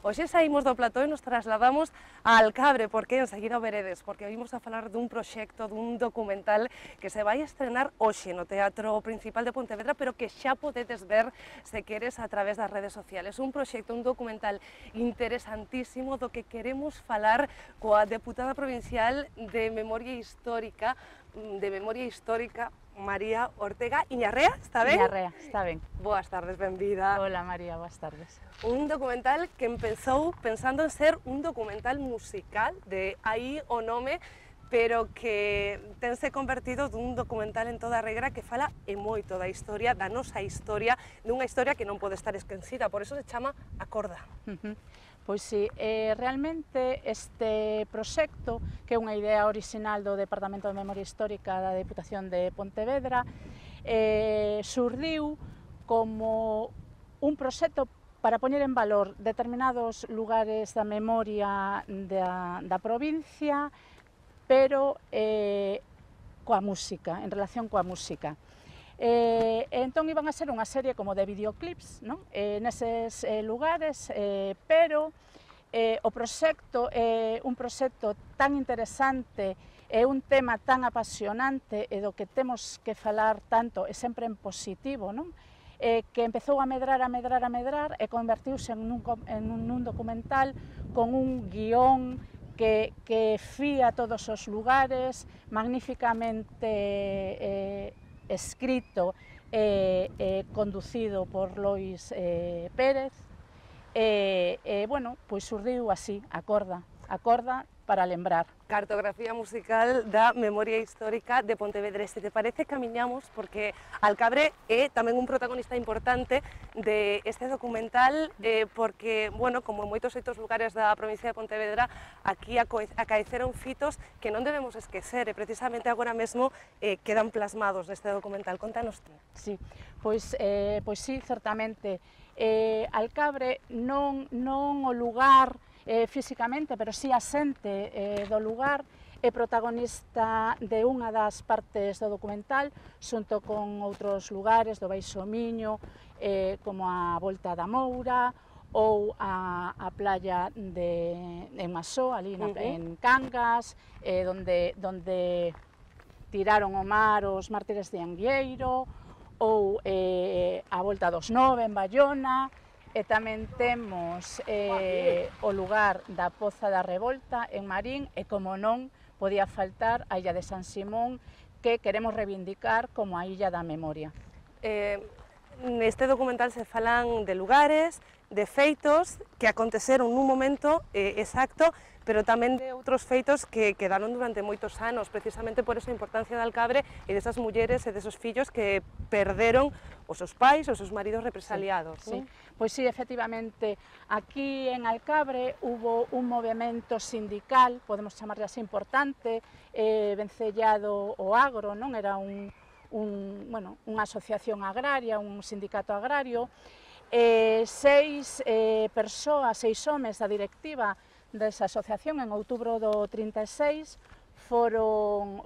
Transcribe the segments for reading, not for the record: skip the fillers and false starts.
Hoxe saímos do plató e nos trasladamos a Alcabre, porque enseguida o veredes, porque vimos a falar dun proxecto, dun documental que se vai estrenar hoxe no Teatro Principal de Pontevedra, pero que xa podedes ver, se queres, a través das redes sociales. Un proxecto, un documental interesantísimo do que queremos falar coa deputada provincial de Memoria Histórica, María Ortega Iñarrea, está ben? Iñarrea, está ben. Boas tardes, benvida. Hola María, boas tardes. Un documental que empezou pensando en ser un documental musical, de aí o nome, pero que tense convertido dun documental en toda regra que fala e moito da historia, da nosa historia, dunha historia que non pode estar esquecida, por eso se chama A Corda. Pois sí, realmente este proxecto, que é unha idea orixinal do Departamento de Memoria Histórica da Deputación de Pontevedra, surdiu como un proxecto para poñer en valor determinados lugares da memoria da provincia, pero coa música, en relación coa música. Entón iban a ser unha serie como de videoclips, non? Neses lugares, pero o proxecto é un proxecto tan interesante, é un tema tan apasionante e do que temos que falar tanto e sempre en positivo, non? Que empezou a medrar e convertiuse en un documental con un guión que fía todos os lugares, magníficamente escrito e conducido por Lois Pérez, bueno, pois surdiu así, a corda para lembrar. Cartografía musical da Memoria Histórica de Pontevedra. Se te parece, camiñamos, porque Alcabre é tamén un protagonista importante deste documental, porque, bueno, como en moitos outros lugares da provincia de Pontevedra, aquí acaeceron fitos que non debemos esquecer, e precisamente agora mesmo quedan plasmados neste documental. Contanos ti. Sí, pois sí, certamente. Alcabre non o lugar físicamente, pero sí a xente do lugar, é protagonista de unha das partes do documental, xunto con outros lugares do Baixo Miño, como a Volta da Moura, ou a playa de Masó, ali en Cangas, donde tiraron o mar os mártires de Anguieiro, ou a Volta dos Nove en Bayona, e tamén temos o lugar da Poza da Revolta en Marín, e como non podía faltar a Illa de San Simón, que queremos reivindicar como a Illa da Memoria. Neste documental se falan de lugares, de feitos que aconteceron nun momento exacto, pero tamén de outros feitos que quedaron durante moitos anos, precisamente por esa importancia de Alcabre e desas mulleres e desos fillos que perderon os seus pais, os seus maridos represaliados. Sí, pois sí, efectivamente, aquí en Alcabre hubo un movimento sindical, podemos chamarle así, importante, vencellado ao agro, non? Era unha asociación agraria, un sindicato agrario, seis persoas, 6 homes da directiva desa asociación en outubro do 36 foron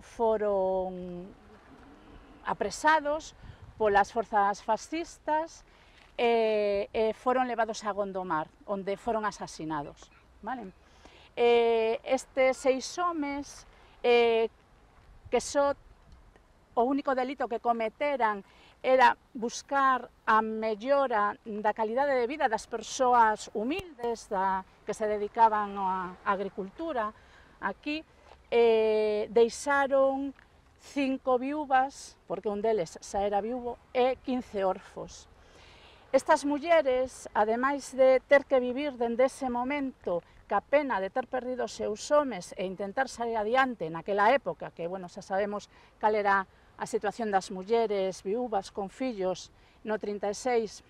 apresados polas forzas fascistas e foron levados a Gondomar, onde foron asasinados. Estes 6 homes, que só o único delito que cometeran era buscar a mellora da calidade de vida das persoas humildes que se dedicaban á agricultura aquí, deixaron 5 viúvas, porque un deles xa era viúvo, e 15 orfos. Estas mulleres, ademais de ter que vivir dende ese momento ca pena de ter perdido os seus homes e intentar sair adiante naquela época, que, bueno, xa sabemos cal era a situación das mulleres viúvas con fillos no 36,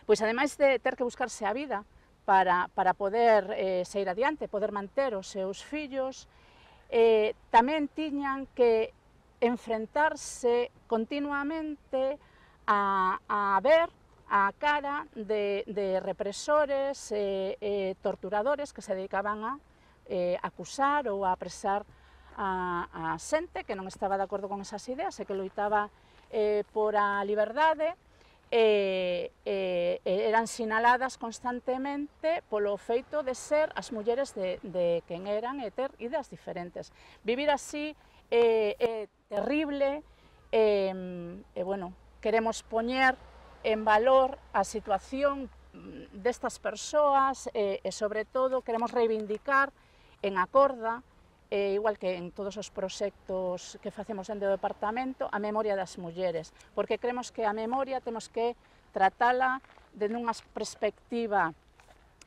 pois ademais de ter que buscarse a vida para poder sair adiante, poder manter os seus fillos, tamén tiñan que enfrentarse continuamente a ver a cara de represores e torturadores que se dedicaban a acusar ou a apresar a xente que non estaba de acordo con esas ideas e que loitaba por a liberdade eran sinaladas constantemente polo feito de ser as mulleres de quen eran e ter ideas diferentes. Vivir así é terrible, bueno, queremos poñer en valor a situación destas persoas e sobre todo queremos reivindicar en Acorda, igual que en todos os proxectos que facemos dentro do departamento, a memoria das mulleres, porque creemos que a memoria temos que tratala dende unha perspectiva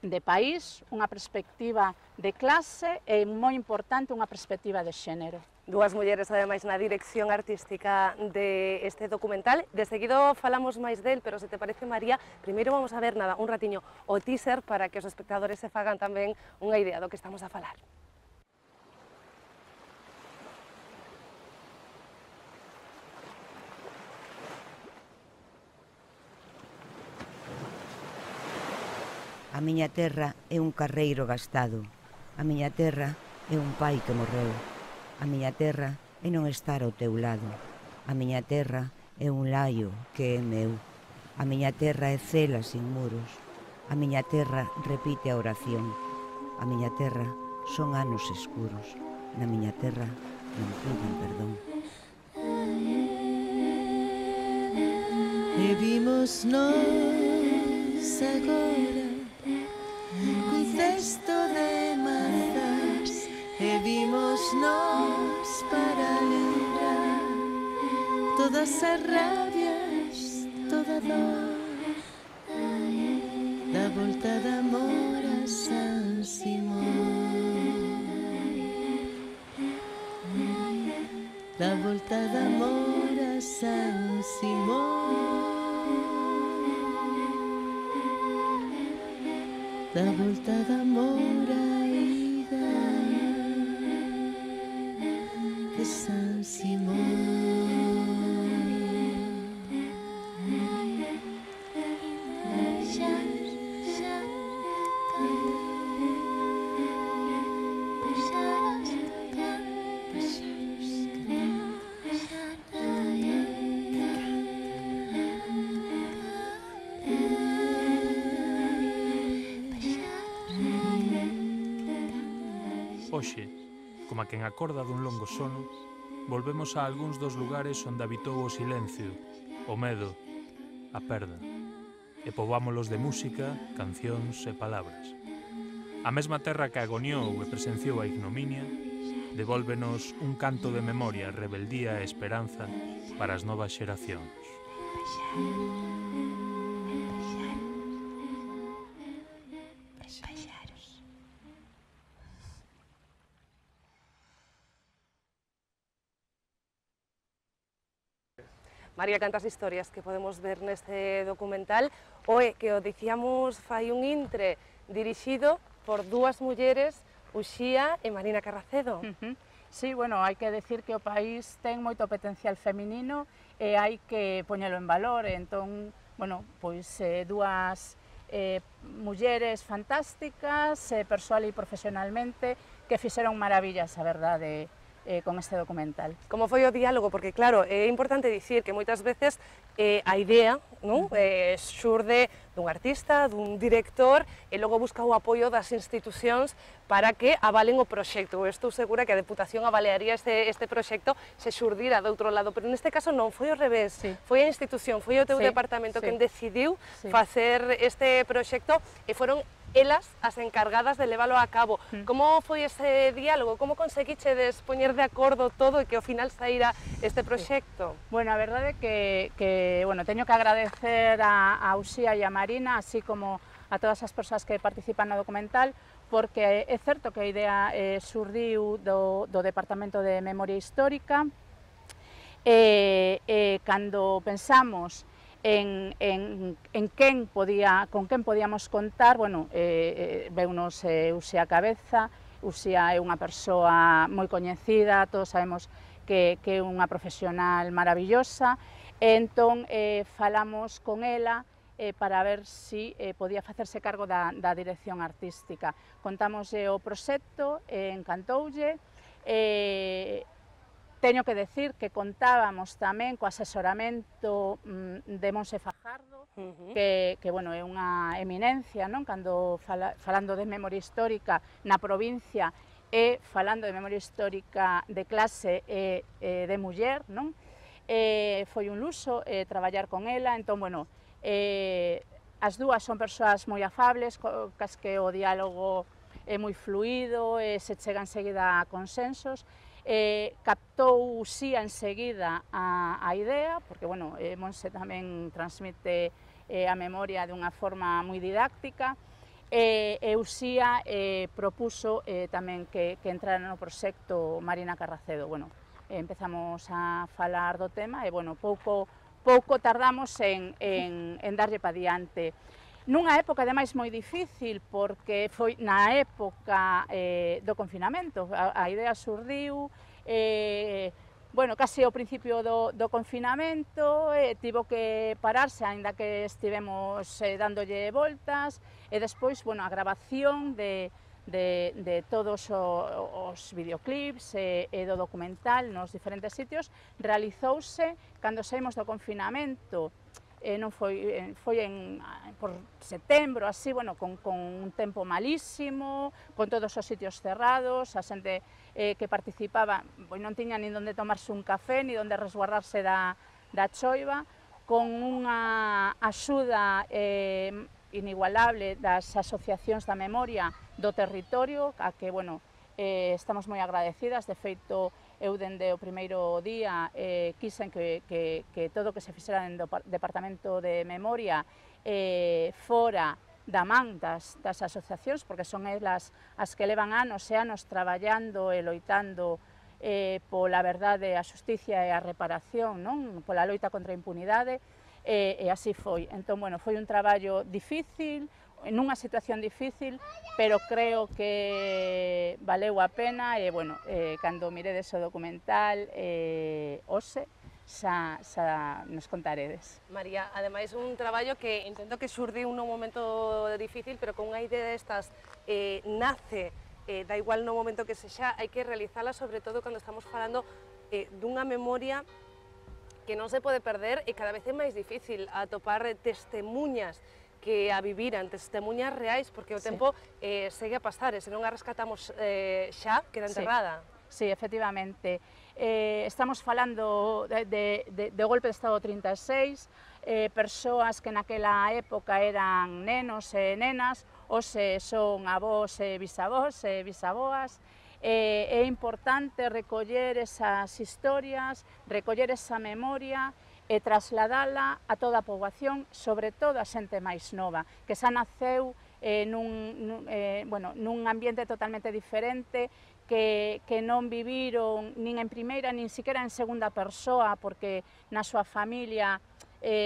de país, unha perspectiva de clase e, moi importante, unha perspectiva de xénero. Dúas mulleres, ademais, na dirección artística deste documental. De seguido falamos máis del, pero se te parece, María, primeiro vamos a ver nada, un ratiño, o teaser para que os espectadores se fagan tamén unha idea do que estamos a falar. A miña terra é un carreiro gastado. A miña terra é un pai que morreu. A miña terra é non estar ao teu lado. A miña terra é un laio que é meu. A miña terra é cela sin muros. A miña terra repite a oración. A miña terra son anos escuros. Na miña terra non piden perdón. E vimos nós agora cun cesto de mazas, e vimos nós para lembrar todas as rabias, toda dor, da volta de amor a San Simón, da volta de amor a San Simón, da volta de amor a ida de San Simón. Hoxe, como a quen acorda dun longo sono, volvemos a algúns dos lugares onde habitou o silencio, o medo, a perda, e poboámolos de música, cancións e palabras. A mesma terra que agoniou e presenciou a ignominia, devólvenos un canto de memoria, rebeldía e esperanza para as novas xeracións. María, cantas historias que podemos ver neste documental. Oe, que o dicíamos fai un intre dirixido por dúas mulleres, Uxía e Marina Carracedo. Sí, bueno, hai que decir que o país ten moito potencial feminino e hai que poñelo en valor. Entón, bueno, pois dúas mulleres fantásticas, persoal e profesionalmente, que fixeron maravillas, a verdade, con este documental. Como foi o diálogo? Porque, claro, é importante dicir que moitas veces a idea xurde dun artista, dun director, e logo busca o apoio das institucións para que avalen o proxecto. Estou segura que a Deputación avaliaría este proxecto se xurdira de outro lado, pero neste caso non, foi ao revés. Sí. Foi a institución, foi o teu departamento quen decidiu facer este proxecto e foron elas as encargadas de leválo a cabo. Como foi ese diálogo? Como conseguichedes poñer de acordo todo e que ao final saíra este proxecto? Bueno, a verdade é que bueno, teño que agradecer a Uxía e a Marina, así como a todas as persoas que participan no documental, porque é certo que a idea surdiu do Departamento de Memoria Histórica, cando pensamos en con quen podíamos contar, bueno, veunos Uxía a cabeza. Uxía é unha persoa moi coñecida, todos sabemos que é unha profesional maravillosa, entón falamos con ela para ver se podía facerse cargo da dirección artística. Contamos o proxecto, encantoulle, Teño que decir que contábamos tamén co asesoramento de Monse Fajardo, que bueno, é unha eminencia, non? Cando falando de memoria histórica na provincia e falando de memoria histórica de clase e de muller, non? Foi un luxo traballar con ela, entón, bueno, as dúas son persoas moi afables, cas que o diálogo é moi fluido, se chega enseguida a consensos, captou Uxía enseguida a idea, porque, bueno, Monse tamén transmite a memoria dunha forma moi didáctica, e Uxía propuso tamén que entrara no proxecto Marina Carracedo. Bueno, empezamos a falar do tema e, bueno, pouco tardamos en darlle pa diante. Nunha época, ademais, moi difícil, porque foi na época do confinamento. A idea surdiu, bueno, case ao principio do confinamento, tivo que pararse, aínda que estivemos dándolle voltas, e despois, bueno, a grabación de todos os videoclips e do documental nos diferentes sitios realizouse cando saímos do confinamento. Non foi por setembro, así, bueno, con un tempo malísimo, con todos os sitios cerrados, a xente que participaba non tiña nin onde tomarse un café, ni onde resguardarse da choiva, con unha axuda inigualable das asociacións da memoria do territorio, a que, bueno, estamos moi agradecidas. De feito, eu dende o primeiro día quixen que todo o que se fixera no Departamento de Memoria fora da man das asociacións, porque son elas as que levan anos e anos traballando e loitando pola verdade, a xusticia e a reparación, non? Pola loita contra a impunidade, e así foi. Entón, bueno, foi un traballo difícil, nunha situación difícil, pero creo que valeu a pena e, bueno, cando miredes o documental, hoxe, xa nos contaredes. María, ademais un traballo que entendo que xurdiu nun momento difícil, pero con unha idea destas nace, da igual no momento que sexa, hai que realizala, sobre todo cando estamos falando dunha memoria que non se pode perder e cada vez é máis difícil atopar testemunhas que a viviran, testemunhas reais, porque o tempo segue a pasar, e se non a rescatamos xa, queda enterrada. Sí, efectivamente. Estamos falando do golpe de Estado 36, persoas que naquela época eran nenos e nenas, hoxe son avós e bisavós e bisaboas. É importante recoller esas historias, recoller esa memoria, e trasladala a toda a poboación, sobre todo a xente máis nova, que xa naceu nun ambiente totalmente diferente, que non viviron nin en primeira, nin siquiera en segunda persoa, porque na súa familia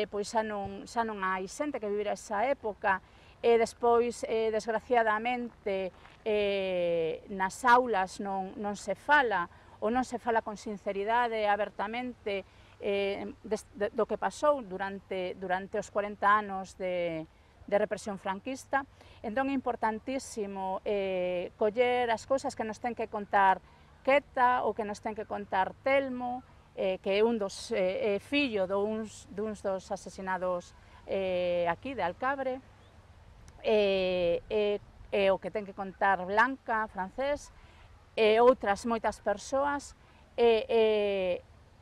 pois xa non hai xente que vivira esa época, e despois, desgraciadamente, nas aulas non se fala, ou non se fala con sinceridade, abertamente, do que pasou durante os 40 anos de represión franquista. Entón é importantísimo coller as cousas que nos ten que contar Queta ou que nos ten que contar Telmo, que é un dos fillo duns dos asesinados aquí de Alcabre, o que ten que contar Blanca, Francés, e outras moitas persoas,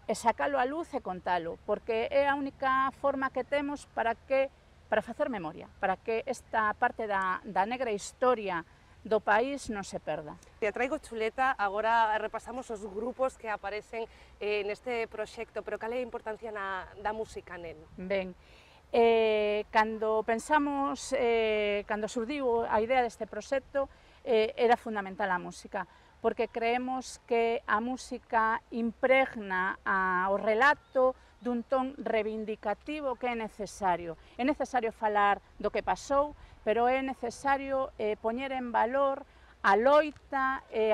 e sacalo a luz e contalo, porque é a única forma que temos para facer memoria, para que esta parte da negra historia do país non se perda. Te traigo chuleta, agora repasamos os grupos que aparecen neste proxecto, pero cal é a importancia da música nel? Ben, cando pensamos, cando surdiu a idea deste proxecto, era fundamental a música, porque creemos que a música impregna o relato dun ton reivindicativo que é necesario. É necesario falar do que pasou, pero é necesario poñer en valor a loita e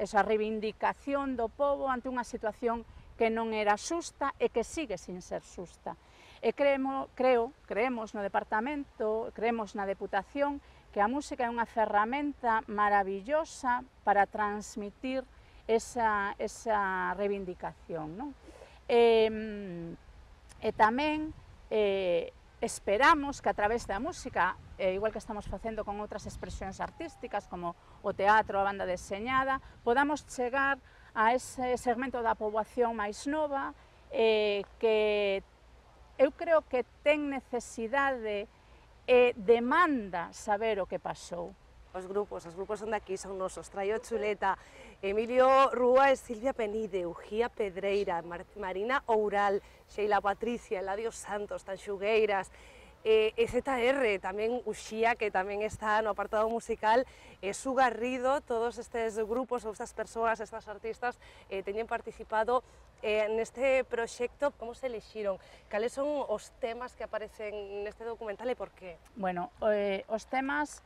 esa reivindicación do pobo ante unha situación que non era xusta e que sigue sin ser xusta. E creemos no departamento, creemos na Deputación, que a música é unha ferramenta maravillosa para transmitir esa reivindicación, non? E tamén esperamos que a través da música, igual que estamos facendo con outras expresións artísticas como o teatro, a banda deseñada, podamos chegar a ese segmento da poboación máis nova que eu creo que ten necesidade e demanda saber o que pasou. Os grupos son daqui, son nosos, Traio Chuleta, Emilio Rúa e Silvia Penide, Ugía Pedreira, Marina Oural, Sheila Patricia, Eladio Santos, Tanxugueiras, ZR, tamén Uxía, que tamén está no apartado musical, Su Garrido, todos estes grupos, ou estas persoas, estas artistas, teñen participado neste proxecto. Como se elixiron? Cales son os temas que aparecen neste documental e por qué? Bueno, os temas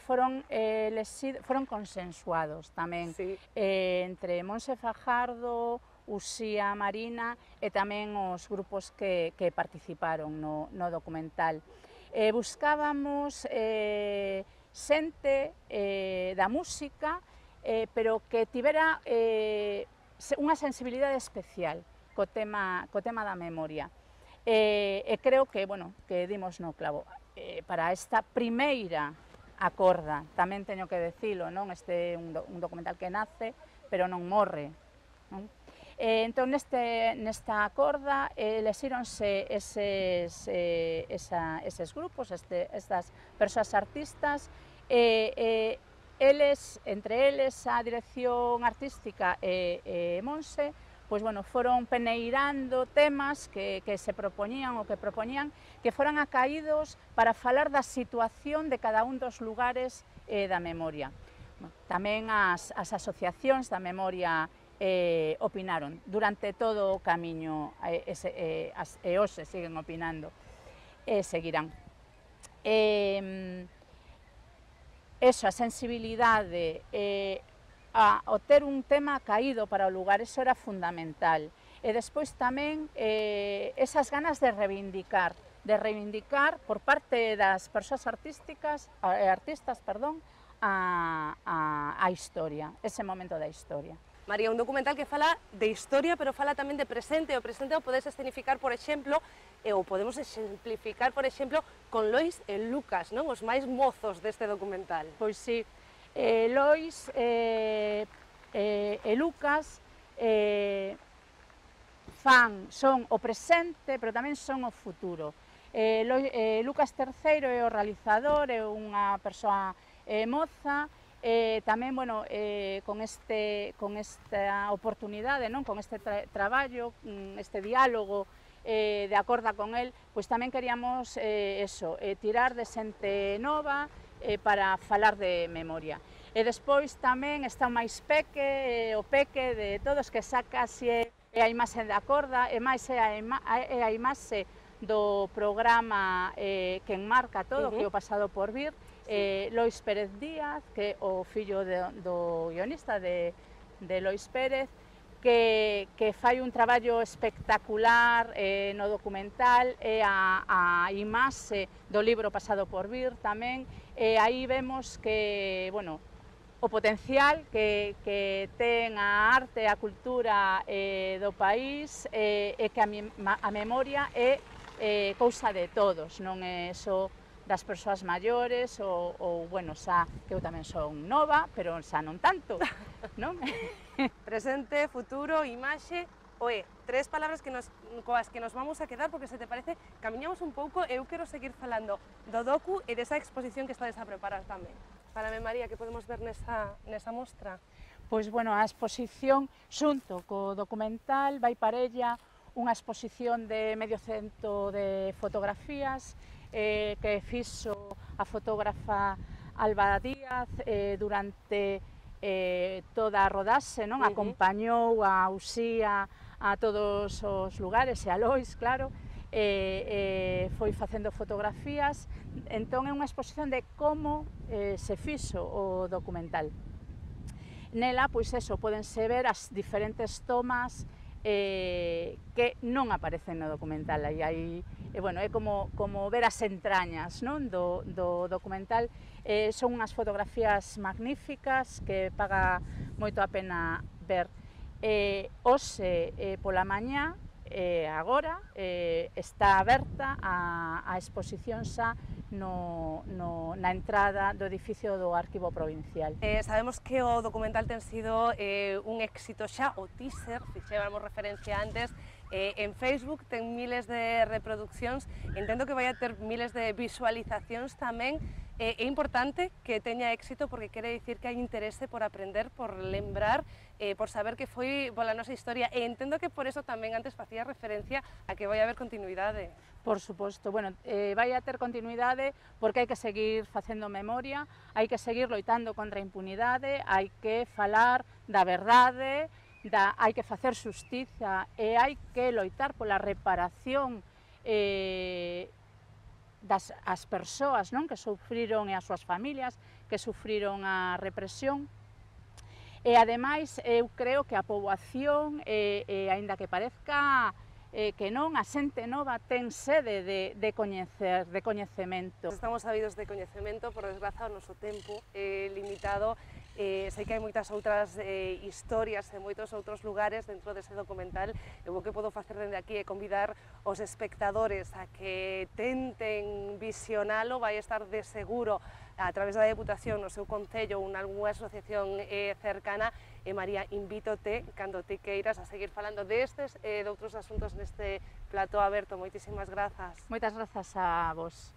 foron consensuados tamén entre Monse Fajardo, Uxía, Marina e tamén os grupos que participaron no documental. Buscábamos xente da música, pero que tivera unha sensibilidade especial co tema da memoria. E creo que, bueno, que dimos no clavo. Para esta primeira acorda, tamén teño que decilo, non? Este é un documental que nace, pero non morre, non? Entón, nesta acorda, elexíronse eses grupos, estas persoas artistas, entre eles a dirección artística e Monse, pois, bueno, foron peneirando temas que se propoñían ou que propoñían que foran acaídos para falar da situación de cada un dos lugares da memoria. Tamén as asociacións da memoria opinaron durante todo o camiño e hoxe siguen opinando e seguirán. Eso, a sensibilidade, o ter un tema caído para o lugar, eso era fundamental. E despois tamén esas ganas de reivindicar por parte das persoas artistas, a historia, ese momento da historia. María, un documental que fala de historia, pero fala tamén de presente. O presente o podes escenificar, por exemplo, ou podemos exemplificar, por exemplo, con Lois e Lucas, non? Os máis mozos deste documental. Pois sí, Lois e Lucas son o presente, pero tamén son o futuro. Lucas III é o realizador, é unha persoa moza, tamén, bueno, con esta oportunidade, non? Con este traballo, este diálogo de acorda con el, pois tamén queríamos tirar de xente nova para falar de memoria. E despois tamén está o máis peque, o peque de todos, que sacase a imaxe da acorda, e máis é a imaxe do programa que enmarca todo, que é o Pasado por Vir. Lois Pérez Díaz, que é o fillo do guionista de Lois Pérez, que fai un traballo espectacular no documental, e a imaxe do libro Pasado por Vir tamén. Aí vemos que, bueno, o potencial que ten a arte e a cultura do país, e que a memoria é cousa de todos, non é só das persoas maiores, ou, bueno, xa que eu tamén son nova, pero xa non tanto, non? Presente, futuro, imaxe, tres palabras coas que nos vamos a quedar, porque se te parece, camiñamos un pouco e eu quero seguir falando do docu e desa exposición que estades a preparar tamén. Fálame, María, que podemos ver nesa mostra? Pois, bueno, a exposición, xunto co documental, vai parella unha exposición de medio cento de fotografías que fixo a fotógrafa Alba Díaz durante toda a rodaxe, non? Acompañou a Uxía a todos os lugares, e a Lois, claro, foi facendo fotografías. Entón é unha exposición de como se fixo o documental. Nela, pois eso, pódense ver as diferentes tomas que non aparecen no documental. Aí, bueno, é como ver as entrañas, non? do documental. Son unhas fotografías magníficas que paga moito a pena ver. Hoxe pola mañá, agora, está aberta a exposición xa na entrada do edificio do Arquivo Provincial. Sabemos que o documental ten sido un éxito xa, o teaser, fixéramos referencia antes, en Facebook ten miles de reproduccións, entendo que vai a ter miles de visualizacións tamén. É importante que teña éxito porque quere dicir que hai interese por aprender, por lembrar, por saber que foi pola nosa historia, e entendo que por eso tamén antes facía referencia a que vai haber continuidade. Por suposto, bueno, vai a ter continuidade porque hai que seguir facendo memoria, hai que seguir loitando contra a impunidade, hai que falar da verdade, hai que facer xustiza e hai que loitar pola reparación das persoas, non, que sufriron, e as súas familias que sufriron a represión. E ademais eu creo que a poboación, aínda que parezca que non, a xente nova ten sede de coñecemento. Estamos sabidos de coñecemento, por desgraza o noso tempo é limitado. Sei que hai moitas outras historias en moitos outros lugares dentro dese documental. Eu o que podo facer dende aquí é convidar os espectadores a que tenten visionalo. Vai estar de seguro a través da Deputación no seu concello ou en algunha asociación cercana. E María, invítote, cando ti queiras, a seguir falando destes e de outros asuntos neste plató aberto. Moitísimas grazas. Moitas grazas a vos.